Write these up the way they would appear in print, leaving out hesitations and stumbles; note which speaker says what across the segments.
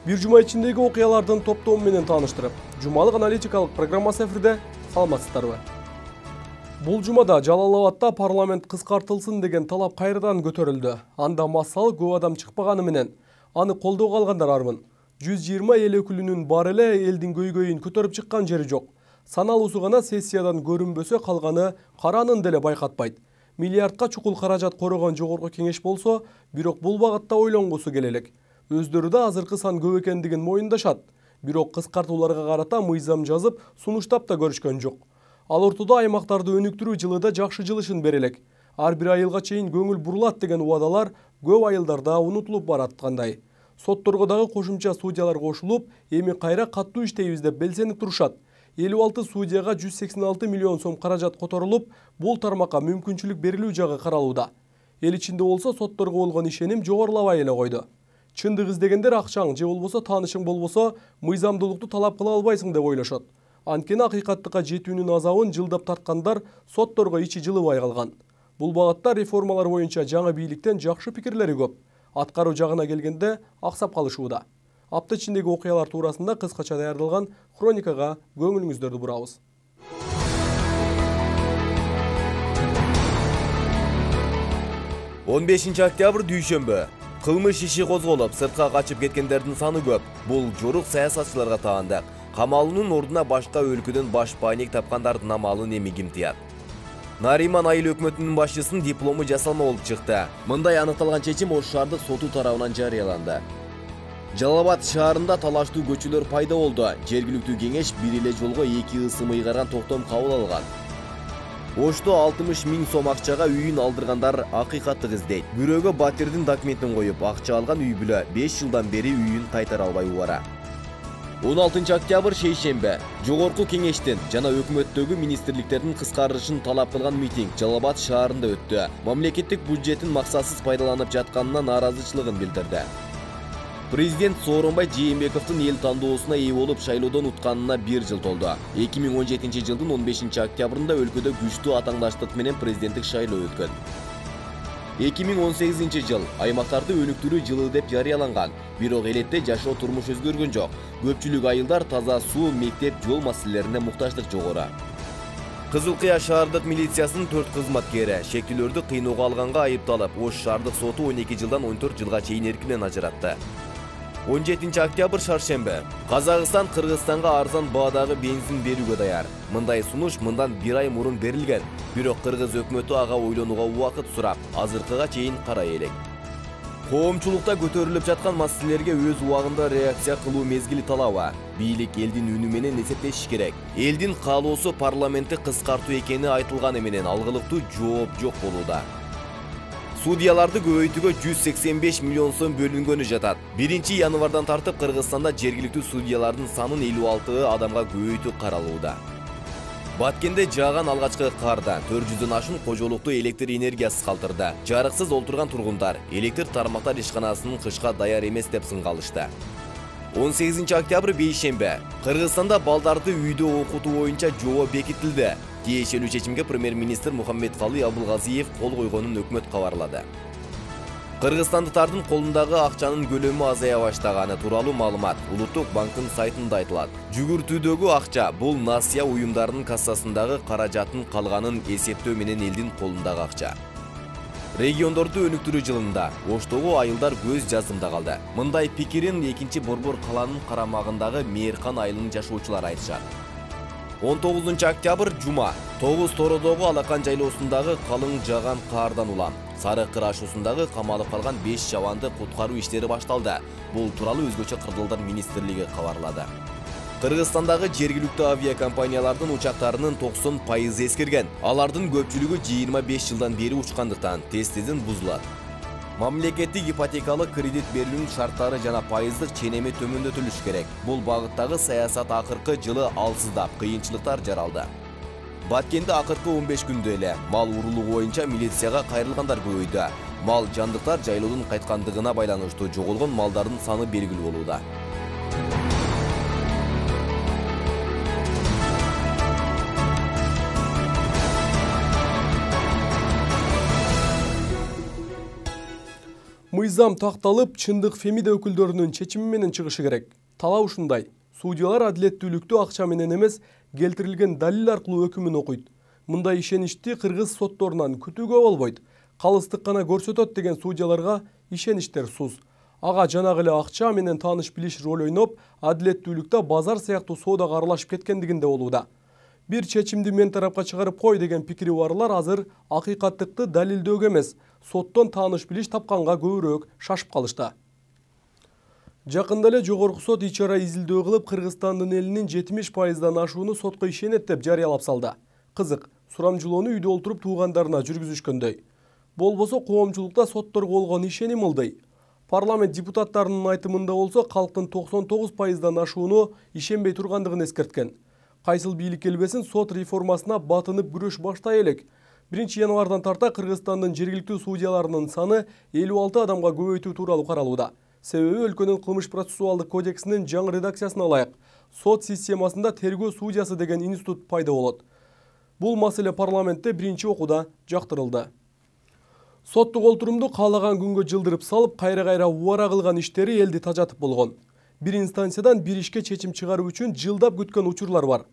Speaker 1: Bir жума ичиндеги окуялардын топтому менен тааныштырып, жумалык аналитикалык программасы эфирде. Саламатсыздарбы? Бул жумада Жалал-Абадда парламент кыскартылсын деген талап кайрадан көтөрүлдү. Анда массалы көп адам чыкпаганы менен аны колдоого алгандар армын. 120 эл өкүлүнүн бар эле элдин көйгөйүн көтөрүп чыккан жери жок. Саналуусу гана сессиядан көрүнбөсө калганы каранын деле байкатпайт. Миллиардка чукул каражат корогон жогорку кеңеш болсо, бирок бул багытта ойлонгусу келе элек. Өздөрү да азыркы сан көп экендигин моюндашат. Бирок кыскартууларга карата мыйзам жазып, сунуштап да көрүшкөн жок. Ал ортодо аймактарды өнүктүрүү жылыда жакшы жылышын бере элек. Ар бир айылга чейин көңүл бурулат деген убадалар көп айылдарда унутулуп бараткандай. Сотторго дагы кошумча судьялар кошулуп, эми кайра каттуу иштейбиз деп белсенип турушат. 56 судьяга 186 миллион сом каражат которулуп, бул тармакка мүмкүнчүлүк берилүү жагы каралууда. Эл ичинде болсо сотторго болгон ишеним жогорулабай эле койду. Чындык издегендер акчаң же болбосо таанышың болбосо мыйзамдуулукту талап кыла албайсың деп ойлошот. Анткени акыйкаттыкка жетүүнүн азабын жылдап тарткандар сотторго ичи жылыбай калган. Бул багытта реформалар боюнча жаңы бийликтен жакшы пикирлери көп. Аткаруу жагына келгенде аксап калышууда. Апта ичиндеги окуялар туурасында кыскача даярдалган хроникага көңүлүңүздөрдү бурабыз.
Speaker 2: 15 октябрь дүйшөмбү. Кылмыш иши козголуп, сыртка качып кеткендердин саны көп. Бул жорук саясатчыларга таандык. Камалуунун ордуна башка өлкөдөн баш пайник тапкандардын амалын эми ким тыят? Нариман айыл өкмөтүнүн башчысынын диплому жасалма болуп чыкты. Мындай аныкталган чечим Ош шаардык соту тарабынан жарыяланды. Жалал-Абад шаарында талаштуу көчөлөр пайда болду. Жергиликтүү кеңеш бир эле жолго 2 ысым ыйгарган токтом кабыл алган. Ошто 60 000 сом акчага үйүн алдыргандар акыйкаттык издейт. Бирөөгө батирдин документин коюп, акча алган үй бүлө 5 жылдан бери үйүн кайтара албай убара. 16 октябрь шейшембе. Жогорку кеңештин жана өкмөттөгү министрликтердин кыскарышын талап кылган митинг Жалал-Абад шаарында өттү. Мамлекеттик бюджеттин максатсыз пайдаланып жатканына нааразычылыгын билдирди. Президент Сооронбай Жээнбековдун эл тандоосуна ээ болуп шайлоодон утканына 1 жыл толду. 2017 жылдын 15 октябрында өлкөдө күчтүү атаңдаштык менен президенттик шайлоо өткөн. 2018 жыл аймактарды өнүктүрүү жылы деп жарыяланган. Бирок элетте жашоо турмуш өзгөргөн жок. Көпчүлүк айылдар таза суу, мектеп, жол маселелерине муктаждык жогору. Кызыл Кыя шаардык милициясынын 4 кызматкери шектүүлөрдү кыйноого алганга айыпталып, Ош шаардык соту 12 жылдан 14 жылга чейин эркинен ажыратты. 17 октябрь шаршембе. Казакстан Кыргызстанга арзан баадагы бензин берүүгө даяр. Мындай сунуш мындан 1 ай мурун берилген. Бирок кыргыз өкмөтү ага ойлонууга убакыт сурап, азыркыга чейин карай элек. Коомчулукта көтөрүлүп жаткан маселелерге өз убагында реакция кылуу мезгили талабы. Бийлик элдин үнү менен эсептеши керек. Элдин каалоосу парламентти кыскартуу экени айтылганы менен алгылыктуу жооп жок болууда. Судьяларды көбөйтүүгө 185 миллион сом бөлүнгөнү жатат. 1 январдан тартып Кыргызстанда жергиликтүү судьялардын санын 56 адамга көбөйтүү каралууда. Баткенде жааган алгачкы карда 400дөн ашуун кожолукту электр энергиясыз калтырды. Жарыксыз олтурган тургундар электр тармактар ишканасынын кышка даяр эмес деп сынгалышты. 18 октябрь бейшембе. Кыргызстанда балдарды үйдө окутуу боюнча жобо бекитилди. Тиешелүү чечимге премьер-министр Мухаммедкалый Абылгазиев кол койгонун өкмөт кабарлады. Кыргызстандыктардын колундагы акчанын көлөмү азая баштаганы тууралуу маалымат Улуттук банктын сайтында айтылат. Жүгүртүүдөгү акча бул насыя уюмдарынын кассасындагы каражаттын калганын эсептөө менен элдин колундагы акча. Региондорду өнүктүрүү жылында Оштогу айылдар көз жазымда калды. Мындай пикирин 2-Борбор каланын карамагындагы Мээркан айылынын жашоочулары айтышат. 19 октябрь жума. Тогуз Тородогу Алакан жайлоосундагы калың жааган каардан улам Сары Кыр ашуусундагы камалып калган 5 жабанды куткаруу иштери башталды. Бул тууралуу Өзгөчө кырдалдар министрлиги кабарлады. Кыргызстандагы жергиликтүү авиакомпаниялардын учактарынын 90% эскирген. Алардын көпчүлүгү 25 жылдан бери учкандыктан тез-тезден бузулат. Мамлекеттик ипотекалык кредит берүүнүн шарттары жана пайыздык ченеми төмөндөтүлүш керек. Бул багыттагы саясат акыркы жылы алсыздап, кыйынчылыктар жаралды. Баткенде акыркы 15 күндө эле мал урулугу боюнча милицияга кайрылгандар көбөйдү. Мал жандыктар жайлоодун кайткандыгына байланыштуу жоголгон малдардын саны белгилүү болууда.
Speaker 1: Мыйзам такталып, чындык Фемида өкүлдөрүнүн чечими менен чыгышы керек. Талап ушундай. Судьялар адилеттүүлүктү акча менен эмес, келтирилген далил аркылуу өкүмүн окуйт. Мындай ишеничти кыргыз сотторунан күтүүгө болбойт. Калыстык гана көрсөтөт деген судьяларга ишеништер суз. Ага жанагы эле акча менен тааныш билиш роль ойноп, адилеттүүлүктө базар сыяктуу соодага аралашып кеткендигинде болууда. Бир чечимди мен тарапка чыгарып кой деген пикири барлар азыр акыйкаттыкты далилдөөгө эмес, соттон тааныш билиш тапканга көбүрөөк шашып калышты. Жакында эле Жогорку сот ичара изилдөө кылып, Кыргызстандын элинин 70%дан ашууну сотко ишенет деп жарыялап салды. Кызык, сурамжылоону үйдө олтуруп туугандарына жүргүзүшкөндөй. Болбосо коомчулукта сотторго болгон ишеним ылдый. Парламент депутаттарынын айтымында болсо, калктын 99%дан ашууну ишенбей тургандыгын эскерткен. Кайсыл бийлик келбесин сот реформасына батынып күрөш баштай элек. 1-январдан тарта Кыргызстандын жергиликтүү судьяларынын саны 56 адамга көбөйтүү тууралуу каралууда. Себеби өлкөнүн кылмыш процессуалдык кодексинин жаңы редакциясына ылайык сот системасында тергөө судьясы деген институт пайда болот. Бул маселе парламентте биринчи окууда жактырылды. Соттук олтурумду каалаган күнгө жылдырып салып, кайра-кайра убара кылган иштери элди тажатып болгон. Бир инстанциядан бир ишке чечим чыгаруу үчүн жылдап күткөн учурлар бар.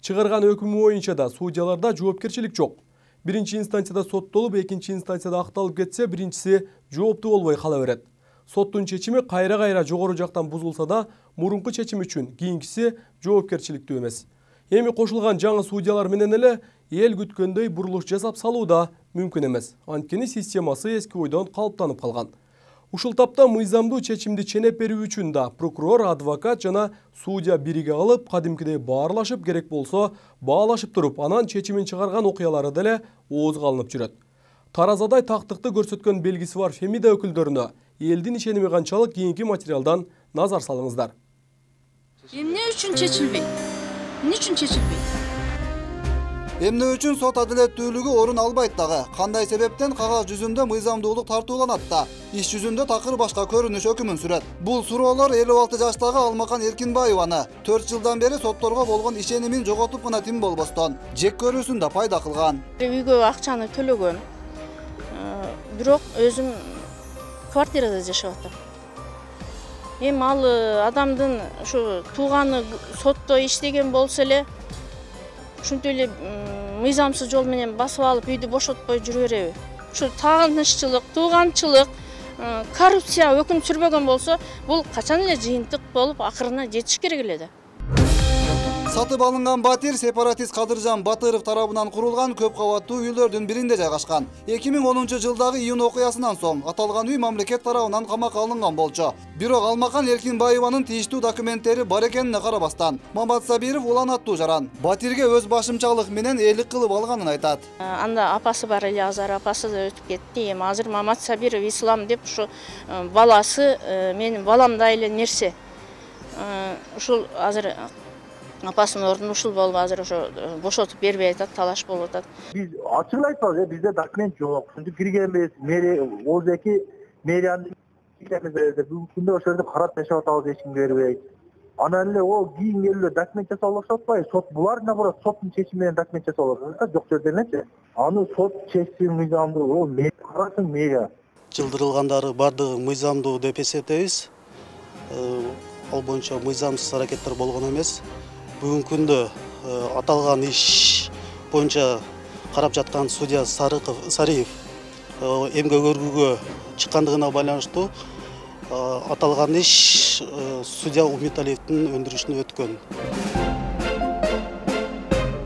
Speaker 1: Чыгарган өкүмү боюнча да судьяларда жоопкерчилик жок. Биринчи инстанцияда соттолуп, экинчи инстанцияда акталып кетсе, биринчиси жооптуу болбой кала берет. Соттун чечими кайра-кайра жогору жактан бузулса да, мурунку чечим үчүн кийинкиси жоопкерчиликтүү эмес. Эми кошулган жаңы судьялар менен эле эл күткөндөй бурулуш жасап салуу да мүмкүн эмес. Анткени системасы эски ойдон калыптанып калган. Ушул тапта мыйзамдуу чечимди ченеп берүү үчүн да прокурор, адвокат жана судья бириге алып, кадимкидей баарлашып, керек болсо баалашып туруп, анан чечимин чыгарган окуялары деле оозго алынып жүрөт. Таразадай тактыкты көрсөткөн белгиси бар Фемида өкүлдөрүнө элдин ишеними канчалык кийинки материалдан назар салыңыздар.
Speaker 3: Эмне үчүн чечилбейт? Эмне үчүн чечилбейт?
Speaker 4: Эмне үчүн сот адилеттүүлүгү орун албайт дагы? Кандай себептен кагаз жүзүндө мыйзамдуулук тартууланат да, иш жүзүндө такыр башка көрүнүш өкүмүн сүрөт? Бул суроолор 56 жаштагы Алмакан Эркинбаеваны 4 жылдан бери сотторго болгон ишенимин жоготуп гана тим болбостон, жек көрүүсүн да пайда кылган.
Speaker 3: Үйгө акчаны төлөгөм. Бирок өзүм квартирада жашап атам. Эми ал адамдын ушу тууганы сотто иштеген болсо эле, ушинтип эле мыйзамсыз жол менен басып алып үйдү бошотпой жүрө береби? Ушу тааныччылык, тууганчылык, коррупция өкүм сүрбөгөн болсо, бул качан эле жыйынтык болуп акырына жетиш керек эле да.
Speaker 4: Сатып алынган батир сепаратист Кадыржан Батыров тарабынан курулган көп кабаттуу үйлөрдүн биринде жайгашкан. 2010 жылдагы июнь окуясынан соң аталган үй мамлекет тарабынан камакка алынган болчу. Бирок Алмакан Эркинбаеванын тийиштүү документтери бар экенине карабастан, Мамат Сабиров улан аттуу жаран батирге өз башымчалык менен ээлик кылып алганын айтат.
Speaker 3: Анда апасы бар эле, азыр апасы да өтүп кетти. Эми азыр Мамат Сабиров ислам деп ушу баласы менин баламдай эле нерсе. Ушул азыр апасынын ордуна ушул болуп азыр ошо бошотуп бербей атат, талаш болуп атат.
Speaker 5: Биз ачык айтпайбыз, бизде документ жок. Ушинтип киргенбиз, Озеки мэриянын бүгүнкү күндө ошол жерде карап жашап атабыз, эч ким бербейт. Анан эле ол кийин келип документ жасалып атпайбы? Сот булар наоборот соттун чечими менен документ жасалып атат, жок жерде элечи. Аны сот чечсин, мыйзамдуу, ол мэрия карасын, мэрия.
Speaker 6: Жылдырылгандары бардыгы мыйзамдуу деп эсептейбиз. Ал боюнча мыйзамсыз аракеттер болгон эмес. Бүгүнкү күндө аталган иш боюнча карап жаткан судья Сариев эмгек өргүүгө чыккандыгына байланыштуу аталган иш судья Умиталиевдин өндүрүшүнө өткөн.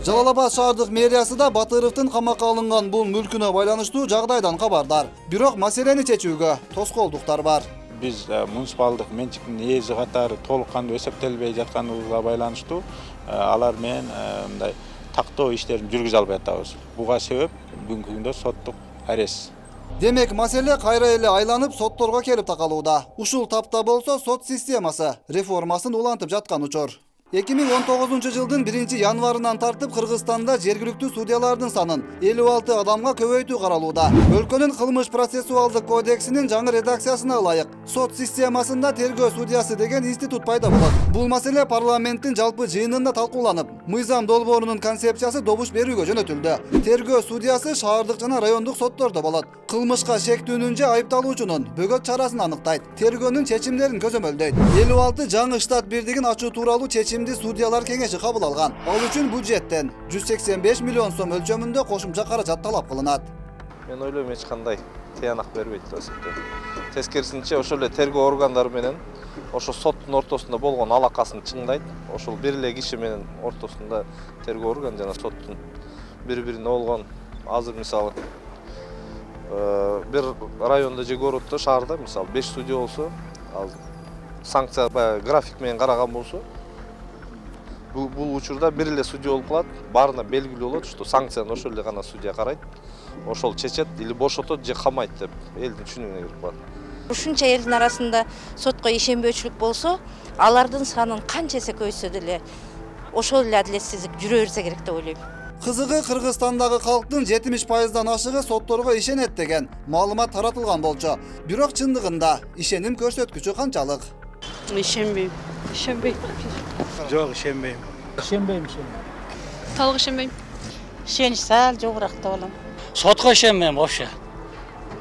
Speaker 4: Жалал Абад шаардык мэриясы да Батыровдун камакка алынган бул мүлкүнө байланыштуу жагдайдан кабардар. Бирок маселени чечүүгө тоскоолдуктар бар.
Speaker 7: Биз муниципалдык менчиктин ээси катары толук кандуу эсептелбей жатканыбызга байланыштуу алар менен мындай тактоо иштерин жүргүзө албай атабыз. Буга себеп бүгүнкү күндө соттук арест.
Speaker 4: Демек, маселе кайра эле айланып сотторго келип такалууда. Ушул тапта болсо сот системасы реформасын улантып жаткан учур. 2019 жылдын 1-январынан тартып Кыргызстанда жергиликтүү судьялардын санын 56 адамга көбөйтүү каралууда. Өлкөнүн кылмыш процессуалдык кодексинин жаңы редакциясына ылайык сот системасында тергөө судьясы деген институт пайда болот. Бул маселе парламенттин жалпы жыйынында талкууланып, мыйзам долбоорунун концепциясы добуш берүүгө жөнөтүлдү. Тергөө судьясы шаардык жана райондук соттордо болот. Кылмышка шектүүнүн же айыпталуучунун бөгөт чарасын аныктайт. Тергөөнүн чечимдерин көзөмөлдөйт. 56 жаңы штат бирдигин ачуу тууралуу чечимди судьялар кеңеши кабыл алган. Ал үчүн бюджеттен 185 миллион сом өлчөмүндө кошумча каражат талап кылынат.
Speaker 8: Мен ойлойм эч кандай тыянак бербейт деп эсептейм. Тескерисинче ошол эле тергөө органдары менен ошо соттун ортосунда болгон алакасын чыңдайт. Ошол бир эле киши менен ортосунда тергөө орган жана соттун бири-бирине болгон азыр мисалы бир райондо же городдо, шаарда мисалы 5 судья болсо, ал санкция график менен караган болсо, бул учурда бир эле судья болуп калат. Баарына белгилүү болот, что санкцияны ошол эле гана судья карайт. Ошол чечет или бошотот же камайт деп элдин түшүнүгүнө кирип калат.
Speaker 9: Ушунча элдин арасында сотко ишенбөөчүлүк болсо, алардын санын канча эсе көбөйтсө деле ошол эле адилетсиздик жүрө берсе керек деп ойлойм.
Speaker 4: Кызыгы Кыргызстандагы калктын 70%дан ашыгы сотторго ишенет деген маалымат таратылган болчу. Бирок чындыгында ишеним көрсөткүчү канчалык?
Speaker 10: Ишенбейм.
Speaker 6: Жок, ишенбейм.
Speaker 10: Ишенбейм. Толук ишенбейм.
Speaker 11: Ишенич сал жогураак деп алам.
Speaker 12: Сотко ишенбейм вообще.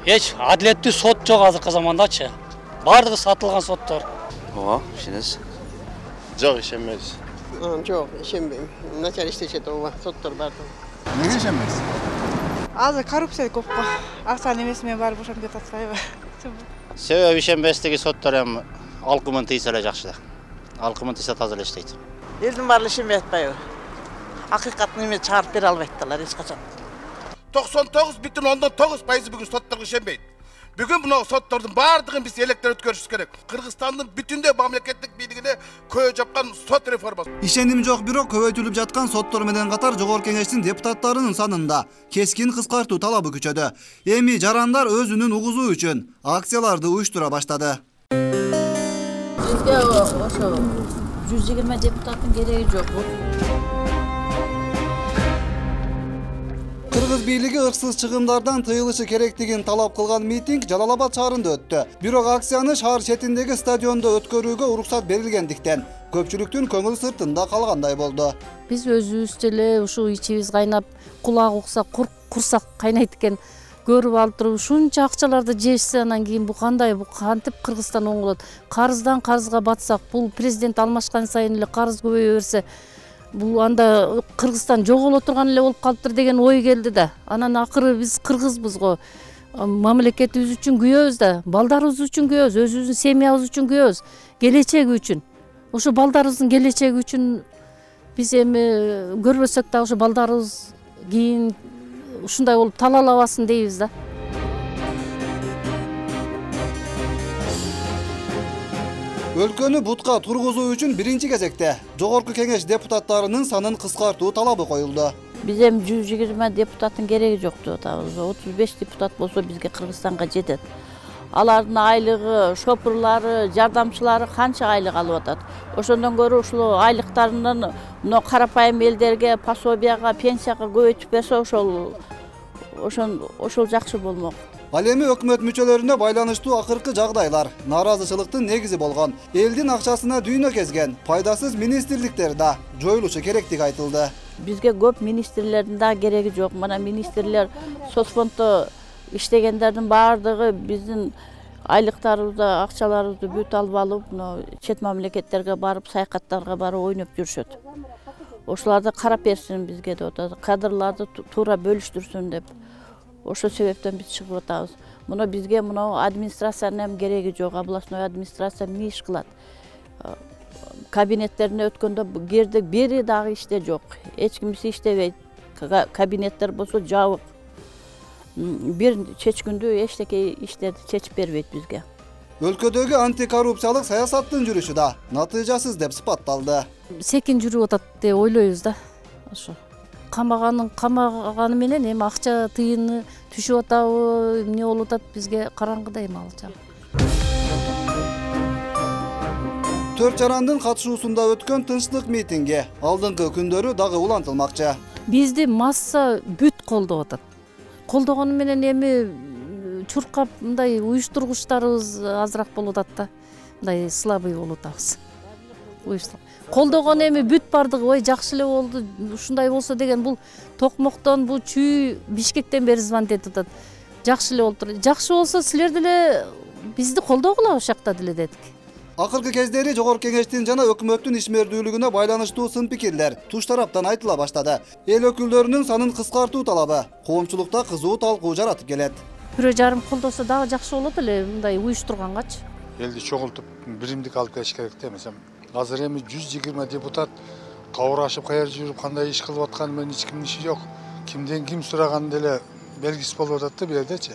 Speaker 12: Эч адилеттүү сот жок азыркы замандачы. Бардыгы сатылган соттор.
Speaker 13: Ооба, ишенесиз?
Speaker 14: Жок, ишенбейбиз.
Speaker 11: Жок, ишенбейм. Начар иштешет ооба, соттор бардыгы.
Speaker 4: Неге ишенбейсиз?
Speaker 10: Азыр коррупция көп го. Акчанын эмеси менен баары бошоп кетип атпайбы?
Speaker 13: Себеби ишенбестиги соттор эми алкымын тийсе эле жакшы да. Алкымын тийсе таза эле иштейт.
Speaker 11: Элдин баары ишенбей атпайбы? Акыйкаттын эме чыгарып бере албайттылар эч качан.
Speaker 14: 99,9% бүгүн сотторго ишенбейт. Бүгүн мына соттордун баардыгын биз электер өткөрүшүбүз керек. Кыргызстандын бүтүндөй мамлекеттик бийлигине көйө жапкан сот реформасы.
Speaker 4: Ишеним жок, бирок көбөйтүлүп жаткан соттор менен катар жогорку кеңештин депутаттарынын санында кескин кыскартуу талабы күчөдү. Эми жарандар өзүнүн угузуу үчүн акцияларды уюштура баштады.
Speaker 15: Бизге ошо 120 депутаттын кереги жок.
Speaker 4: Кыргыз бийлиги ырксыз чыгымдардан тыйылышы керектигин талап кылган митинг Жалал Абад шаарында өттү. Бирок акцияны шаар четиндеги стадиондо өткөрүүгө уруксат берилгендиктен көпчүлүктүн көңүл сыртында калгандай болду.
Speaker 15: Биз өзүбүз деле ушу ичибиз кайнап, кулак укса курсак кайнайт экен көрүп алып туруп ушунча акчаларды жешсе, анан кийин бул кандай, бул кантип Кыргызстан оңолот? Карыздан карызга батсак, бул президент алмашкан сайын эле карыз көбөйө берсе, бул анда Кыргызстан жоголо турган эле болуп калыптыр деген ой келди да. Анан акыры биз кыргызбыз го. Мамлекетибиз үчүн күйөбүз да, балдарыбыз үчүн күйөбүз, өзүбүздүн семьябыз үчүн күйөбүз, келечеги үчүн. Ошо балдарыбыздын келечеги үчүн биз эми көрбөсөк да ошо балдарыбыз кийин ушундай болуп талалабасын дейбиз да.
Speaker 4: Өлкөнү бутка тургузуу үчүн биринчи кезекте жогорку кеңеш депутаттарынын санын кыскартуу талабы коюлду.
Speaker 15: Биз эми 120 депутаттын кереги жок деп атабыз. 35 депутат болсо бизге Кыргызстанга жетет. Алардын айлыгы, шопурлары, жардамчылары канча айлык алып атат. Ошондон көрө ушул айлыктарынан мына карапайым элдерге, пособияга, пенсияга көбөйтүп берсе, ошол жакшы болмок.
Speaker 4: Ал эми өкмөт мүчөлөрүнө байланыштуу акыркы жагдайлар нааразычылыктын негизи болгон, элдин акчасына дүйнө кезген пайдасыз министрликтер да жоюлушу керектиги айтылды.
Speaker 15: Бизге көп министрлердин да кереги жок. Мына министрлер соцфонддо иштегендердин баардыгы биздин айлыктарыбызды, акчаларыбызды бүт алып алып, чет мамлекеттерге барып, саякаттарга барып ойноп жүрүшөт. Ошоларды карап берсин бизге деп атат. Кадрларды туура бөлүштүрсүн деп. Ошол себептен биз чыгып атабыз. Муну бизге администрациянын эми кереги жок. Областной администрация эмне иш кылат? Кабинеттерине өткөндө кирдик, бири дагы иште жок. Эч кимиси иштебейт. Кабинеттер болсо жабык. Бир чечкүндө эчтеке иштерди чечип бербейт бизге.
Speaker 4: Өлкөдөгү антикоррупциялык саясаттын жүрүшү да натыйжасыз деп сыпатталды.
Speaker 15: Секин жүрүп атат деп ойлойбуз да. Ошо камаганы менен эми акча тыйыны түшүп атабы, эмне болуп атат бизге караңгыда эми ал жагы.
Speaker 4: 4 жарандын катышуусунда өткөн тынчтык митинги алдыңкы күндөрү дагы улантылмакчы.
Speaker 15: Бизди масса бүт колдоп атат. Колдогону менен эми чуркап мындай уюштургучтарыбыз азыраак болуп атат да. Мындай слабый болуп атабыз. Колдогон эми бүт бардыгы ой жакшы эле болду, ушундай болсо деген бул токмоктон, бул чүй Бишкектен бери звонить этип атат. Жакшы эле болуптур. Жакшы болсо силер деле бизди колдогула ошол жакта деле дедик.
Speaker 4: Акыркы кездери Жогорку Кеңештин жана өкмөттүн ишмердүүлүгүнө байланыштуу сын пикирлер туш тараптан айтыла баштады. Эл өкүлдөрүнүн санын кыскартуу талабы коомчулукта кызуу талкуу жаратып келет.
Speaker 15: 1,5 колдосо дагы жакшы болот эле мындай уюштургангачы.
Speaker 16: Элди чогултуп биримдик алып келиш керек да. Мисалы, азыр эми 120 депутат кабырашып каер жүрүп кандай иш кылып атканы менен эч кимдин иши жок. Кимден ким сураган деле белгисиз болуп атат да бул жердечи.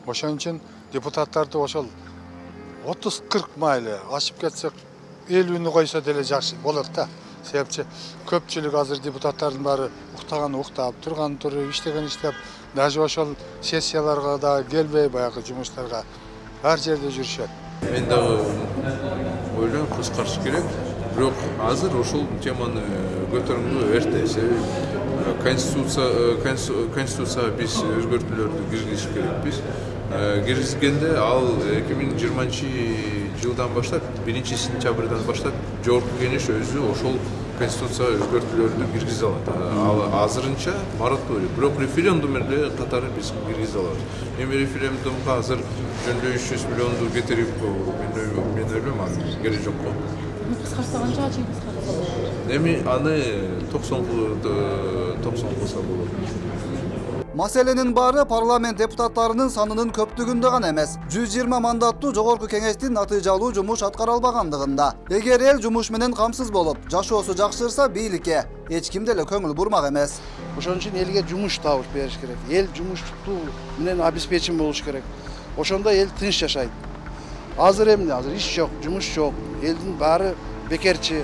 Speaker 16: Ошон үчүн депутаттарды ошол 30-40 майлы ашып кетсек 50-нü койсо деле жакшы болот да. Себепчи көпчүлүк азыр депутаттардын баары уктаган уктап, турган туруп, иштеген иштеп, даже ошол сессияларга да келбей баягы жумуштарга ар жерде жүрүшөт.
Speaker 17: Мен дагы ойлойм кыскартыш керек. Бирок азыр ошол теманы көтөргөнгө эрте. Себеби конституцияга биз өзгөртүүлөрдү киргизиш керекпиз. Киргизгенде ал 2020-жылдан баштап 1-сентябрдан баштап Жогорку Кеңеш өзү ошол конституцияга өзгөртүүлөрдү киргизе алат. Ал азырынча мораторий, бирок референдум эле катары биз киргизе алабыз. Эми референдумга азыр жөндөй 300 миллионду кетирип мен ойлойм азыр керек жок го.
Speaker 15: Кыскартса канчага чейин кыскартса?
Speaker 17: Эми аны 90 кылса болот.
Speaker 4: Маселенин баары парламент депутаттарынын санынын көптүгүндө гана эмес, 120 мандаттуу Жогорку Кеңештин натыйжалуу жумуш аткара албагандыгында. Эгер эл жумуш менен камсыз болуп, жашоосу жакшырса бийликке эч ким деле көңүл бурмак эмес.
Speaker 18: Ошон үчүн элге жумуш табыш бериш керек. Эл жумуштуу менен обеспечен болуш керек. Ошондо эл тынч жашайт. Азыр эмне? Азыр иш жок, жумуш жок. Элдин баары бекерчи.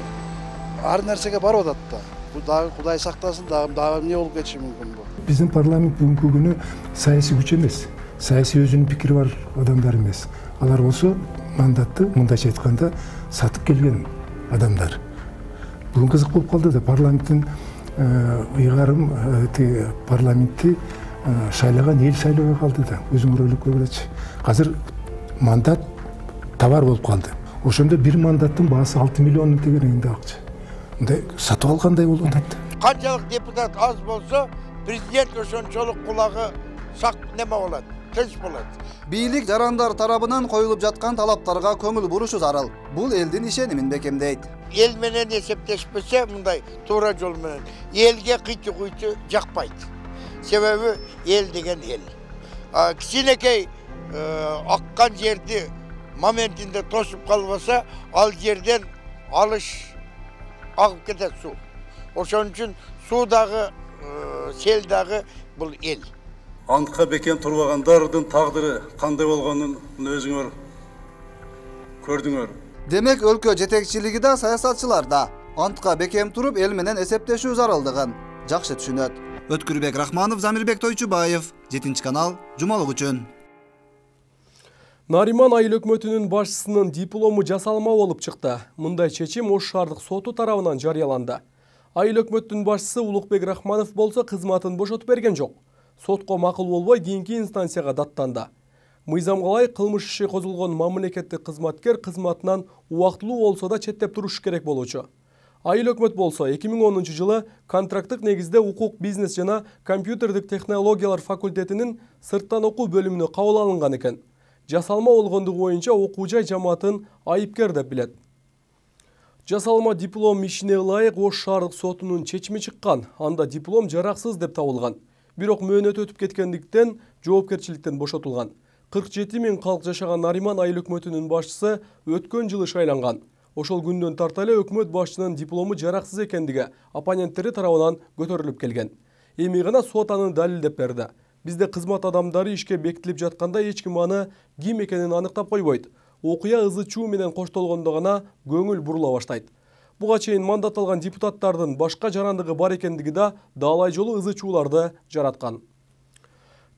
Speaker 18: Ар нерсеге барып атат да. Бул дагы Кудай сактасын, дагы эмне болуп кетиши мүмкүн бу.
Speaker 19: Биздин парламент бүгүнкү күнү саясий күч эмес, саясий өзүнүн пикири бар адамдар эмес. Алар болсо мандатты мындайча айтканда сатып келген адамдар. Бүгүн кызык болуп калды да, парламенттин ыйгарым парламентти шайлаган эл шайлабай калды да. Өзүңөр ойлоп көргүлөчү. Азыр мандат товар болуп калды. Ошондо бир мандаттын баасы 6 миллион тегерегинде акча. Мындай сатып алгандай болуп атат.
Speaker 20: Канчалык депутат аз болсо, президент ошончолук кулагы сак неме болот, тынч болот.
Speaker 4: Бийлик жарандар тарабынан коюлуп жаткан талаптарга көңүл бурушу зарыл. Бул элдин ишенимин бекемдейт.
Speaker 20: Эл менен эсептешпесе, мындай туура жол менен элге кыйты-куйты жакпайт. Себеби эл деген эл. Кичинекей аккан жерди моментинде тосуп калбаса, ал жерден алыш агып кетет суу. Ошон үчүн суудагы, сел дагы бул эл.
Speaker 21: Антка бекем турбагандардын тагдыры кандай болгонун өзүңөр көрдүңөр.
Speaker 4: Демек өлкө жетекчилиги да саясатчылар да антка бекем туруп эл менен эсептешүү зарылдыгын жакшы түшүнөт. Өткүрбек Рахманов, Замирбек Тойчубаев, 7-канал, жумалык үчүн.
Speaker 1: Нариман айыл өкмөтүнүн башчысынын диплому жасалма болуп чыкты. Мындай чечим Ош шаардык соту тарабынан жарыяланды. Айыл өкмөттүн башчысы Улукбек Рахманов болсо кызматын бошотуп берген жок. Сотко макул болбой кийинки инстанцияга даттанды. Мыйзамга ылайык кылмыш иши козулгон мамлекеттик кызматкер кызматынан убактылуу болсо да четтеп туруш керек болчу. Айыл өкмөт болсо 2010-жылы контракттык негизде укук, бизнес жана компьютердик технологиялар факультетинин сырттан окуу бөлүмүнө кабыл алынган экен. Жасалма болгондугу боюнча окуу жай жамаатын айыпкер деп билет. Жасалма диплом ишине ылайык Ош шаардык сотунун чечими чыккан. Анда диплом жараксыз деп табылган. Бирок мөөнөт өтүп кеткендиктен жоопкерчиликтен бошотулган. 47 000 калк жашаган Нариман айыл өкмөтүнүн башчысы өткөн жылы шайланган. Ошол күндөн тарта эле өкмөт башчынын диплому жараксыз экендиги оппоненттери тарабынан көтөрүлүп келген. Эми гана сот аны далилдеп берди. Бизде кызмат адамдары ишке бекитилип жатканда эч ким аны ким экенин аныктап койбойт. Окуя ызы-чуу менен коштолгондо гана көңүл бурула баштайт. Буга чейин мандатталган депутаттардын башка жарандыгы бар экендиги да даалай жолу ызы-чууларды жараткан.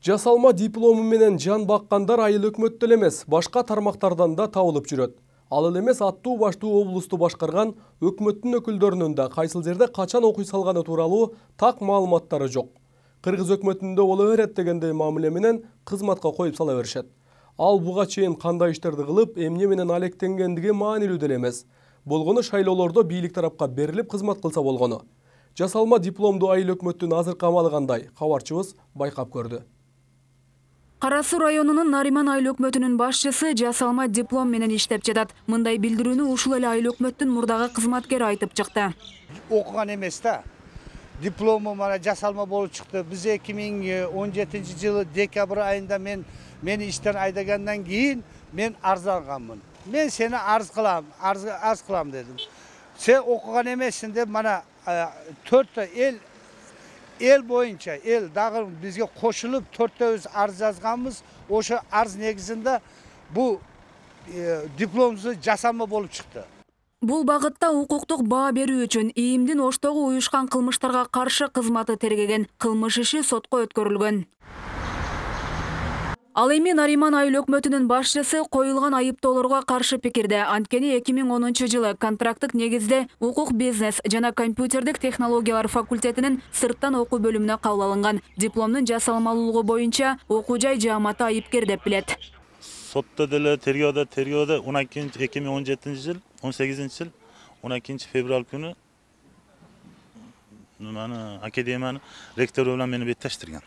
Speaker 1: Жасалма диплому менен жан баккандар айыл өкмөттө эле эмес, башка тармактардан да табылып жүрөт. Ал эле эмес аттуу баштуу облусту башкарган өкмөттүн өкүлдөрүнүн да кайсыл жерде качан окуй салганы тууралуу так маалыматтары жок. Кыргыз өкмөтүндө боло берет дегендей мамиле менен кызматка коюп сала беришет. Ал буга чейин кандай иштерди кылып, эмне менен алектенгендиги маанилүү деле эмес. Болгону шайлоолордо бийлик тарапка берилип кызмат кылса болгону. Жасалма дипломдуу айыл өкмөттүн азыркы амалы кандай? Кабарчыбыз байкап көрдү.
Speaker 2: Кара Суу районунун Нариман айыл өкмөтүнүн башчысы жасалма диплом менен иштеп жатат. Мындай билдирүүнү ушул эле айыл өкмөттүн мурдагы кызматкери айтып чыкты.
Speaker 22: Окуган эмес да. Диплому мана жасалма болуп чыкты. Биз 2017-жылы декабрь айында мени иштен айдагандан кийин мен арызданганмын. Мен сени арыз кылам дедим. Сен окуган эмессиң деп мана 4 эл боюнча дагы бизге кошулуп 4-төбүз арыз жазганбыз. Ошо арыз негизинде бул дипломубузду жасалма болуп чыкты.
Speaker 2: Бул багытта укуктук баа берүү үчүн ИИМдин Оштогу уюшкан кылмыштарга каршы кызматы тергеген кылмыш иши сотко өткөрүлгөн. Ал эми Нариман айыл өкмөтүнүн башчысы коюлган айыптоолорго каршы пикирде. Анткени 2010-жылы контракттык негизде укук, бизнес жана компьютердик технологиялар факультетинин сырттан окуу бөлүмүнө кабыл алынган. Дипломдун жасалмалуулугу боюнча окуу жай жааматы айыпкер деп билет.
Speaker 23: Сотто деле тергөөдө 2017-жыл 18-жыл 12-февраль күнү академиянын ректору менен мени беттештирген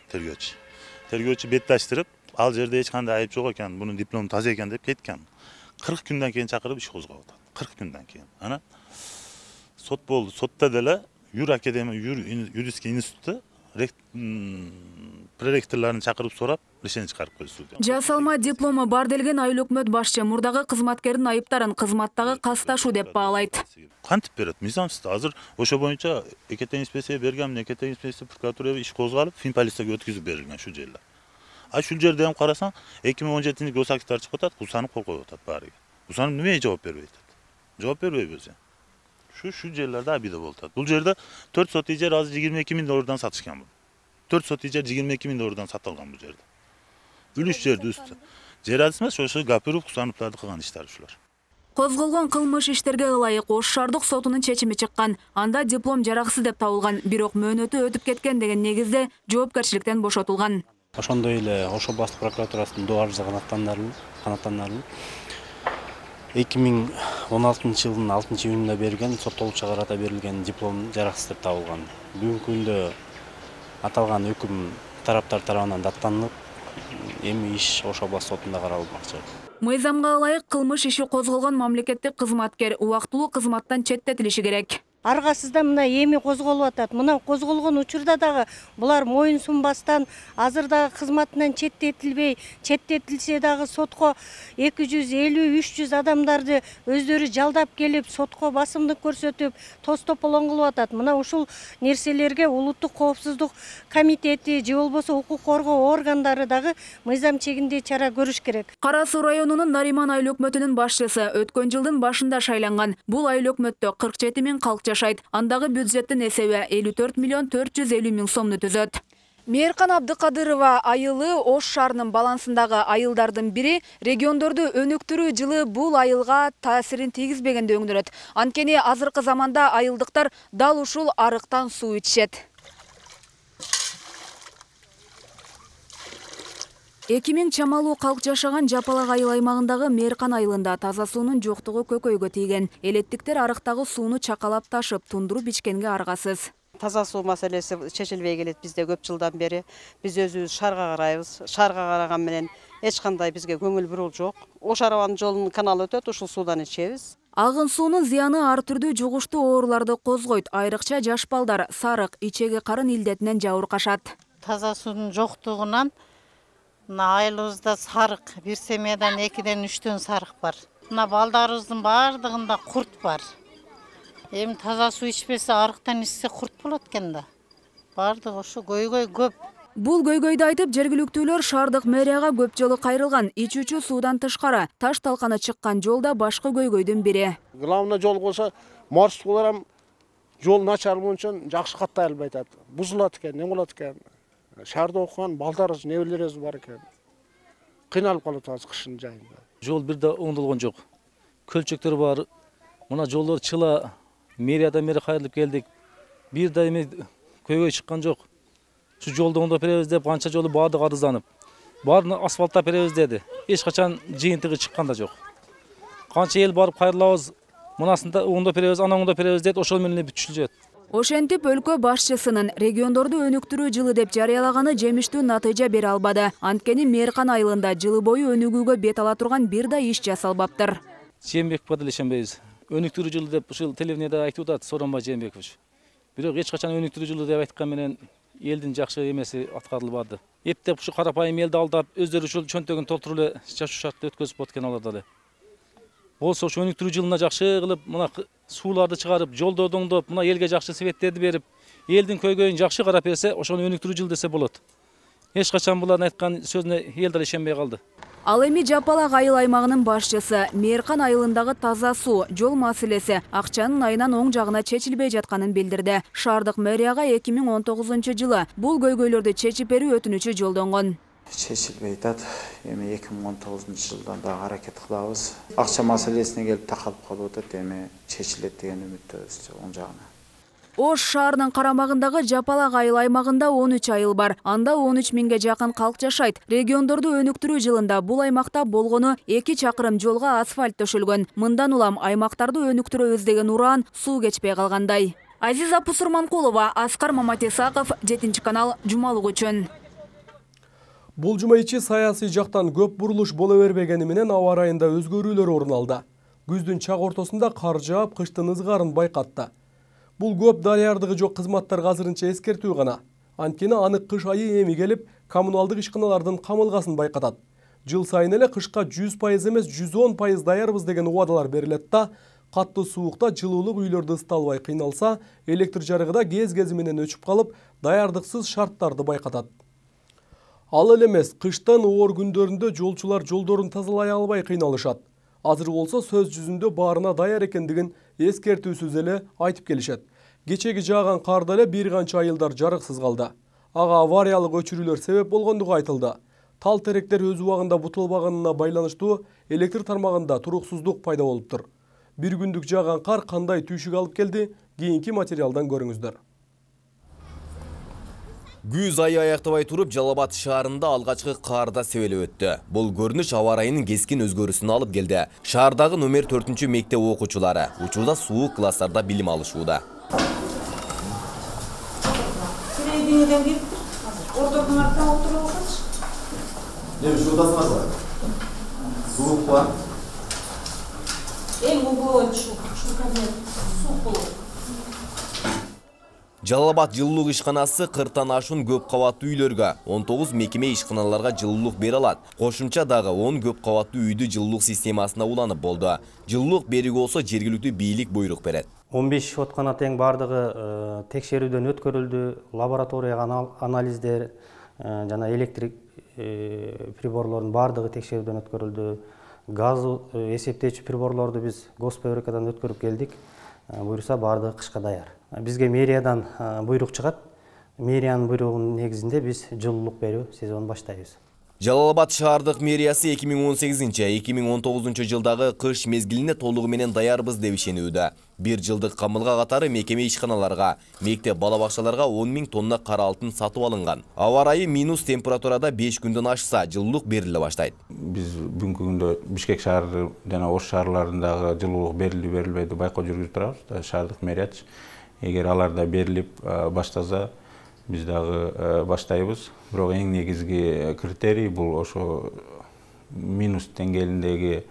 Speaker 23: тергөөчү беттештирип, ал жерде эч кандай айып жок экен, бунун диплому таза экен деп кеткен. 40 күндөн кийин чакырып иш козгоп атат. 40 күндөн кийин. Ана сот болду. Сотто деле юридический институтта проректорларын чакырып сурап, решение чыгарып койду судья.
Speaker 2: Жасалма диплому бар делген айыл өкмөт башчы мурдагы кызматкердин айыптарын кызматтагы касташуу деп баалайт.
Speaker 23: Кантип берет? Мыйзамсыз. Азыр ошо боюнча ЭКТ инспекция берген, ЭКТ инспекция прокуратурага иш козголуп, фин полицияга өткүзүп берилген шу жерде. Ушул жерде эми карасаң, 2017-жылы госактар чыгып атат, усанып кол коюп атат баарыга. Усанып эмне жооп бербей атат? Жооп бербейбиз. Шу жерлерде абида болуп атат. Бул жерде 4 сотый жер азыр 22 000 доллардан сатышкан бул. 4 сотый жер 22 000 доллардан сатылган бул жерде. Үлүш жерди үстү. Жер адыс эмес, ошо гапырып усаныптарды кылган иштер ушулар.
Speaker 2: Козголгон кылмыш иштерге ылайык Ош шаардык сотунун чечими чыккан. Анда диплом жараксыз деп табылган, бирок мөөнөтү өтүп кеткен деген негизде жоопкерчиликтен бошотулган.
Speaker 24: Ошондой эле Ош областык прокуратурасынын доо арызы канааттандырылып, 2016-жылдын 6-июнунда берген соттолуучуга карата берилген диплом жараксыз деп табылган. Бүгүнкү күндө аталган өкүм тараптар тарабынан даттанып, эми иш Ош областык сотунда каралмакчы.
Speaker 2: Мыйзамга ылайык кылмыш иши козголгон мамлекеттик кызматкер убактылуу кызматтан четтетилиши керек.
Speaker 25: Аргасызда мына эми козголуп атат. Мына козголгон учурда дагы булар моюн сунбастан азыр дагы кызматынан четтетилсе дагы сотко 250-300 адамдарды өздөрү жалдап келип сотко басымдык көрсөтүп, тостополон кылып атат. Мына ушул нерселерге улуттук коопсуздук комитети же болбосо укук коргоо органдары дагы мыйзам чегинде чара көрүш керек.
Speaker 2: Кара Суу районунун Нариман айыл өкмөтүнүн башчысы өткөн жылдын башында шайланган. Бул айыл өкмөттө 47 000 калк жашайт. Андагы бюджеттин эсеби 54 450 000 сомду түзөт. Мээркан Абдыкадырова айылы Ош шаарынын балансындагы айылдардын бири, региондорду өнүктүрүү жылы бул айылга таасирин тийгизбеген өңдөрөт. Анткени азыркы заманда айылдыктар дал ушул арыктан суу ичишет. 2000 чамалуу калк жашаган Жапалак айыл аймагындагы Мээркан айылында таза суунун жоктугу көкөйгө тийген. Элеттиктер арыктагы сууну чакалап ташып, тундуруп ичкенге аргасыз.
Speaker 26: Таза суу маселеси чечилбей келет бизде көп жылдан бери. Биз өзүбүз шаарга карайбыз. Шаарга караган менен эч кандай бизге көңүл буруу жок. Ош арабанын жолунун каналы өтөт, ушул суудан ичебиз.
Speaker 2: Агын суунун зыяны ар түрдүү жугуштуу ооруларды козгойт. Айрыкча жаш балдар сарык, ичеги карын илдетинен жабыркашат.
Speaker 11: Таза суунун жоктугунан айылыбызда сарык, бир семьядан 2-ден 3-төн сарык бар. Мына балдарыбыздын бардыгында курт бар. Эми таза суу ичпесе, арыктан ичсе курт болот экен да. Бардыгы ошо көйгөй көп.
Speaker 2: Бул көйгөйдү айтып, жергиликтүүлөр шаардык мэрияга көп жолу кайрылган. Ичүүчү суудан тышкары таш талканы чыккан жолда башкы көйгөйдүн бири.
Speaker 27: Главный жол болсо, маршруткалар ham жол начар болчон жакшы каттай албай атат. Бузулат экен, не болот экен. Шаарда окуган балдарыбыз, небелерибиз бар экен. Кыйналып калып атабыз кышын жайында.
Speaker 28: Жол бир да оңдолгон жок.
Speaker 3: көлчөктөр бар. Мына жолдор чыла, мэриядан бери кайрылып келдик. Бир да эме көйгөй чыккан жок. Şu жолду оңдоп беребиз деп канча жолу баардыгы арызданып. Баарын асфальттап беребиз деди. Эч качан жыйынтыгы чыккан да жок. Канча эл барып кайрылабыз, мынасында оңдоп беребиз, ана оңдоп беребиз дейт, ошол менен бүтүшүп жатат.
Speaker 2: Ошентип өлкө башчысынын региондорду өнүктүрүү жылы деп жарыялаганы жемиштүү натыйжа бере албады. Анткени Мээркан айылында жылы бою өнүгүүгө бет ала турган бир да иш жасалбаптыр.
Speaker 3: Жээнбековго деле ишенбейбиз. Өнүктүрүү жылы деп ушул телевидениеде айтып атат Сооронбай Жээнбекович. Бирок эч качан өнүктүрүү жылы деп айткан менен элдин жакшы эмеси аткарылбады. Эптеп ушу карапайым элди алдап, өздөрү ушул чөнтөгүн толтуруп эле жашоо шартты өткөзүп аткан алар дагы. Болсо ушу өнүктүрүү жылына жакшы кылып, мына сууларды чыгарып, жолдорду оңдоп, мына элге жакшы себеттерди берип, элдин көйгөйүн жакшы карап берсе, ошону өнүктүрүү жыл десе болот. Эч качан булардын айткан сөзүнө эл да ишенбей калды.
Speaker 2: Ал эми Жапалак айыл аймагынын башчысы Мээркан айылындагы таза суу, жол маселеси акчанын айынан оң жагына чечилбей жатканын билдирди. Шаардык мэрияга 2019 жылы бул көйгөйлөрдү чечип берүү өтүнүчү жолдонгон.
Speaker 5: Чечилбей атат. Эми 2019 жылдан да аракет кылабыз. Акча маселесине келип такалып калып атат, эми чечилет деген үмүттөбүз оң жагына.
Speaker 2: Ош шаарынын карамагындагы Жапалак айыл аймагында 13 айыл бар. Анда 13 миңге жакын калк жашайт. Региондорду өнүктүрүү жылында бул аймакта болгону 2 чакырым жолго асфальт төшөлгөн. Мындан улам аймактарды өнүктүрөбүз деген ураан суу кечпей калгандай. Азиза Пусурманкулова, Аскар Маматисаков, 7-канал, жумалык үчүн.
Speaker 1: Бул жума ичи саясий жактан көп бурулуш боло бербегени менен аба ырайында өзгөрүүлөр орун алды. Күздүн чак ортосунда кар жаап, кыштын ызгарын байкатты. Бул көп дарыярдыгы жок кызматтарга азырынча эскертүү гана. Анткени анык кыш айы эми келип, коммуналдык ишканалардын камылгасын байкатат. Жыл сайын эле кышка 100% эмес 110% даярбыз деген убадалар берилет да, катты суукта жылуулук үйлөрдү ысыта албай кыйналса, электр жарыгы да кез-кези менен өчүп калып, даярдыксыз шарттарды байкатат. Ал эле эмес, кыштын оор күндөрүндө жолчулар жолдорун тазалай албай кыйналышат. Азыр болсо сөз жүзүндө баарына даяр экендигин эскертүүсүз эле айтып келишет. Кечеги жааган карда эле бир канча айылдар жарыксыз калды. Ага авариялык өчүрүүлөр себеп болгондугу айтылды. Тал теректер өз убагында бутулбаганына байланыштуу электр тармагында туруксуздук пайда болуптур. Бир күндүк жааган кар кандай түйшүк алып келди? Кийинки материалдан көрүңүздөр.
Speaker 6: Күз айы аяктабай туруп, Жалал Абад шаарында алгачкы карда себелеп өттү. Бул көрүнүш аба ырайынын кескин өзгөрүүсүнө алып келди. Шаардагы номер 4 мектеп окуучулары учурда суук класстарда билим алышууда.
Speaker 7: Серединеден кеп, ордодун артына отуруп алсачы.
Speaker 6: Эми шуудасыңарбы? Суук бар.
Speaker 7: Эң угу шу кабинет суук болот.
Speaker 6: Жалал Абад жылуулук ишканасы 40тан ашуун көп кабаттуу үйлөргө, 19 мекеме ишканаларга жылуулук бере алат. Кошумча дагы 10 көп кабаттуу үйдү жылуулук системасына уланып болду. Жылуулук берүүгө болсо жергиликтүү бийлик буйрук берет.
Speaker 8: 15 откана тең бардыгы текшерүүдөн өткөрүлдү, лабораторияга анализдер жана электрик приборлордун бардыгы текшерүүдөн өткөрүлдү. Газ эсептечү приборлорду биз госпроверкадан өткөрүп келдик. Буйруса бардыгы кышка даяр. Бизге мэриядан буйрук чыгат. Мэриянын буйругунун негизинде биз жылуулук берүү сезонун баштайбыз.
Speaker 6: Жалал Абад шаардык мэриясы 2018-2019 жылдагы кыш мезгилине толугу менен даярбыз деп ишенүүдө. Бир жылдык камылга катары мекеме ишканаларга, мектеп бала бакчаларга 10 000 тонна кара алтын сатып алынган. Аба ырайы минус температурада 5 күндөн ашса, жылуулук бериле баштайт.
Speaker 9: Биз бүгүнкү күндө Бишкек шаары жана Ош шаарларындагы жылуулук берилби байкоо жүргүзүп турабыз. Шаардык мэрият эгер аларда берилип баштаса, биз дагы баштайбыз. Бирок эң негизги критерий бул ошо минус деңгээлиндеги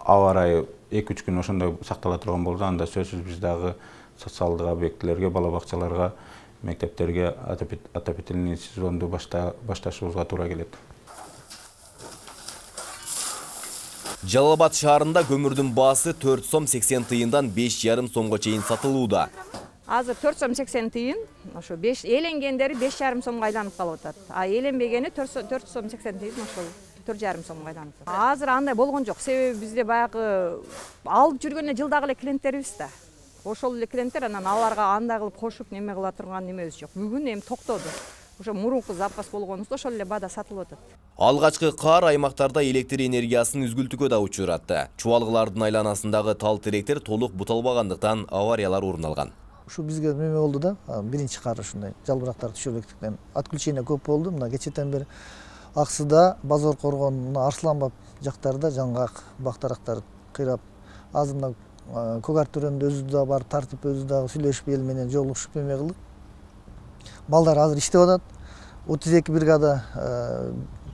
Speaker 9: аба ырайы 2-3 күн ошондой сактала турган болсо, анда сөзсүз биз дагы социалдык объектилерге, бала бакчаларга, мектептерге отопительный сезонду башташыбызга туура келет.
Speaker 6: Жалал Абад шаарында көмүрдүн баасы 4 сом 80 тыйындан 5,5 сомго чейин сатылууда.
Speaker 12: Азыр 4 сом 80 тыйын, ошо эленгендери 5,5 сомго айланып калып атат. А эленбегени 4 сом 80 тыйын, ошол 4,5 сомго айланып атат. Азыр андай болгон жок, себеби бизде баягы алып жүргөн жылдагы эле клиенттерибиз да. Ошол эле клиенттер анан аларга андай кылып кошуп неме кыла турган немебиз жок. Бүгүн эми токтоду. ошо мурунку запас болгонубузда ошол эле баада сатылып атат.
Speaker 6: Алгачкы кар аймактарда электр энергиясын үзгүлтүүгө да учуратты. Чубалгылардын айланасындагы тал теректер толук буталбагандыктан авариялар орун алган.
Speaker 10: Ушу бизге неме болду да, биринчи кар ушундай жалбырактар түшөбектиктен отключение көп болду. Мына кечетен бери Аксыда, Базор Коргон, Арсланбаб жактарда жаңгак бактарактар кыйрап, азыр мына Когар төрөндө өзү да бар, тартип өзү дагы сүйлөшүп эл менен жолугушуп эме кылдык. Балдар азыр иштеп атат. 32 бригада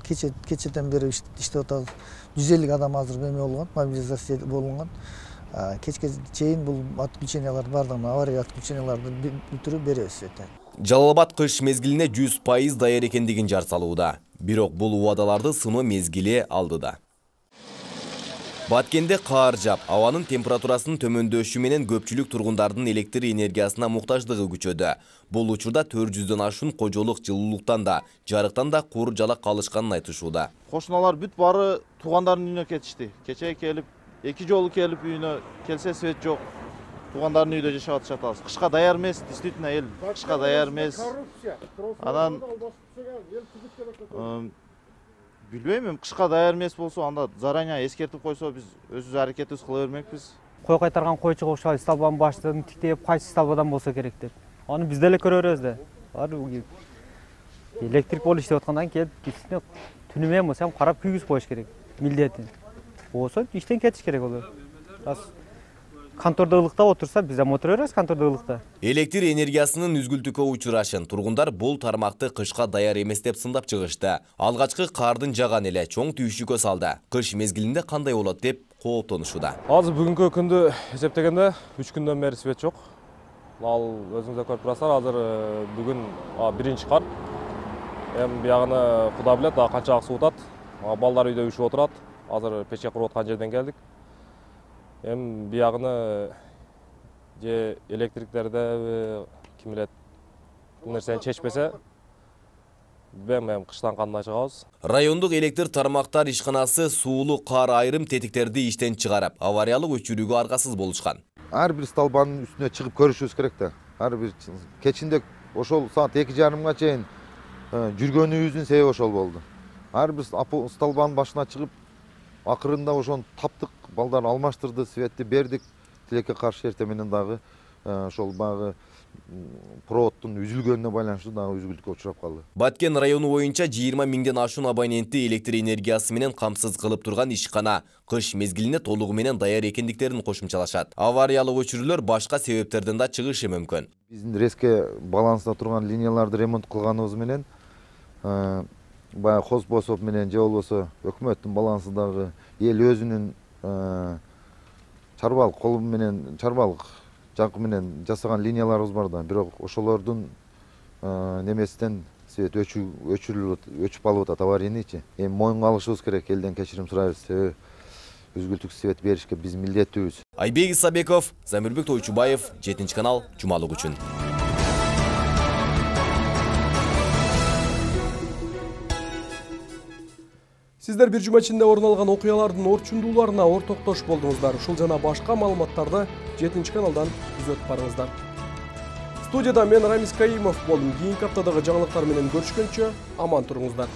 Speaker 10: кечетен бери иштеп атат. 150 адам азыр эме болгон, мобилизация болгон. Кечке чейин бул отключениялар бардыгын, авария отключенияларды бүтүрүп беребиз.
Speaker 6: Жалал-Абад кыш мезгилине 100% даяр экендигин жар салууда. Бирок бул убадаларды сыноо мезгили алдыда. Баткенде кар жап, абанын температурасынын төмөндөшү менен көпчүлүк тургундардын электр энергиясына муктаждыгы күчөдү. Бул учурда 400дөн ашуун кожолук жылуулуктан да, жарыктан да кур жалак калышканын айтышууда.
Speaker 13: Кошуналар бүт бары туугандарынын үйүнө кетишти. Кечээ келип, 2 жолу келип үйүнө келсе свет жок. Туугандарынын үйдө жашап атышат. Кышка даяр эмес, действительно эл кышка даяр эмес. Анан билбейм, кышка даяр эмес болсо, анда заранее эскертип койсо, биз өзүбүз аракетибиз кыла бермекпиз.
Speaker 14: Кой кайтарган койчу кошо столбанын баштыгын тиктеп, кайсы столбадан болсо керек деп. Аны биз деле көрө беребиз да. Электрик болуп иштеп аткандан кийин түнү менен болсо карап күйгүзүп коюш керек. Милдети. Болсо иштен кетиш керек болот. Контордо ылыктап отурса, биз да отура беребиз контордо ылыкта.
Speaker 6: Электр энергиясынын үзгүлтүүгө учурашын тургундар бул тармакты кышка даяр эмес деп сындап чыгышты. Алгачкы кардын жаган эле чоң түйшүккө салды. Кыш мезгилинде кандай болот деп кооптонушууда.
Speaker 15: Азыр бүгүнкү күндү эсептегенде 3 күндөн бери свет жок. Ал өзүңүз да көрүп турасыздар, азыр бүгүн биринчи кар. Эми биягыны Кудай билет, канча суутат. Балдар үйдө үшүп отурат. Азыр печке куруп аткан жерден келдик. Эми биягыны же электриктерде ким билет бул нерсени чечпесе, эми кыштан кандай чыгабыз.
Speaker 6: Райондук электр тармактар ишканасы суулуу кар айрым тетиктерди иштен чыгарып, авариялык өчүрүүгө аргасыз болушкан.
Speaker 16: Ар бир столбанын үстүнө чыгып көрүшүбүз керек да. Ар бир кечинде ошол саат 2:30га чейин жүргөнүбүздүн себеби ошол болду. Ар бир столбанын башына чыгып, акырында ошону таптык, балдар алмаштырды, светти бердик. Тилекке каршы эртең менен дагы ошол багы проводдун үзүлгөнүнө байланыштуу дагы үзгүлтүккө учурап калды.
Speaker 6: Баткен району боюнча 20 миңден ашуун абонентти электр энергиясы менен камсыз кылып турган ишкана кыш мезгилине толугу менен даяр экендиктерин кошумчалашат. Авариялык өчүрүүлөр башка себептерден да чыгышы мүмкүн.
Speaker 16: Биздин резке баланста турган линияларды ремонт кылганыбыз менен баягы хозбосоп менен же болбосо өкмөттүн балансындагы эл өзүнүн чарбалык колу менен чарбалык жакы менен жасаган линияларыбыз бар да, бирок ошолордун немесинен свет өчүп алып атат аварийничи. Эми моюнга алышыбыз керек, элден кечирим сурайбыз, себеби үзгүлтүк свет беришке биз милдеттүүбүз.
Speaker 6: Айбек Исабеков, Замирбек Тойчубаев, 7-канал, жумалык үчүн.
Speaker 1: Сиздер бир жума ичинде орун алган окуялардын орчундууларына ортоктош болдуңуздар. Ушул жана башка маалыматтарды 7-каналдан күзөтүп барыңыздар. Студияда мен Рамис Каимов болдум. Кийинки аптадагы жаңылыктар менен көрүшкөнчө аман туруңуздар.